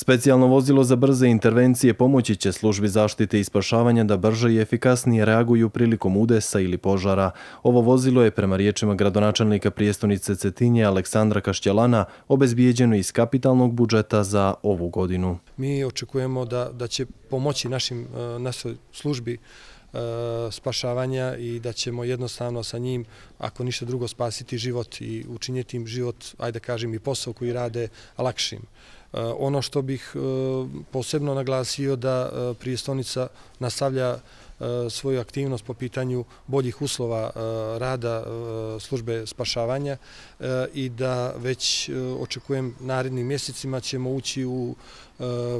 Specijalno vozilo za brze intervencije pomoći će službi zaštite i spašavanja da brže i efikasnije reaguju prilikom udesa ili požara. Ovo vozilo je, prema riječima gradonačelnika prijestonice Cetinje Aleksandra Kašćelana, obezbijeđeno iz kapitalnog budžeta za ovu godinu. Mi očekujemo da će pomoći našoj službi spašavanja i da ćemo jednostavno sa njim, ako ništa drugo, spasiti život i učiniti im život, ajde kažem, i posao koji rade lakšim. Ono što bih posebno naglasio da prijestonica nastavlja svoju aktivnost po pitanju boljih uslova rada službe spašavanja i da već očekujem narednim mjesecima ćemo ući u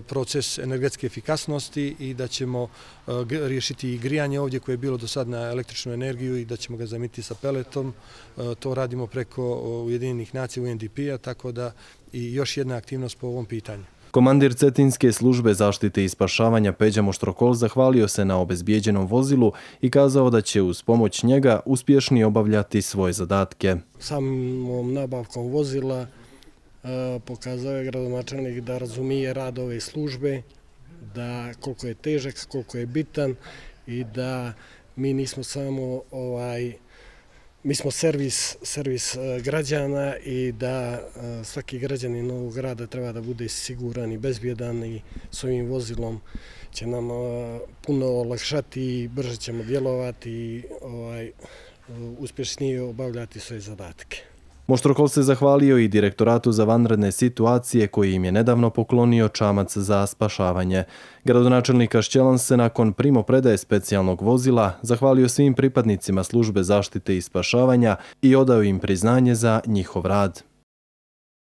proces energetske efikasnosti i da ćemo riješiti i grijanje ovdje koje je bilo do sad na električnu energiju i da ćemo ga zamijeniti sa peletom. To radimo preko Ujedinjenih nacija UNDP-a, tako da i još jedna aktivnost po ovom pitanju. Komandir Cetinske službe zaštite i spašavanja Peđa Moštrokol zahvalio se na obezbijeđenom vozilu i kazao da će uz pomoć njega uspješnije obavljati svoje zadatke. Samom nabavkom vozila pokazao je gradonačelnik da razumije rad ove službe, da koliko je težak, koliko je bitan i da mi nismo samo mi smo servis građana i da svaki građanin ovog grada treba da bude siguran i bezbjedan i s ovim vozilom će nam puno olakšati i brže ćemo djelovati i uspješnije obavljati svoje zadatke. Moštrokol se zahvalio i Direktoratu za vanredne situacije koji im je nedavno poklonio čamac za spašavanje. Gradonačelnik Kašćelan se nakon primopredaje specijalnog vozila zahvalio svim pripadnicima službe zaštite i spašavanja i odao im priznanje za njihov rad.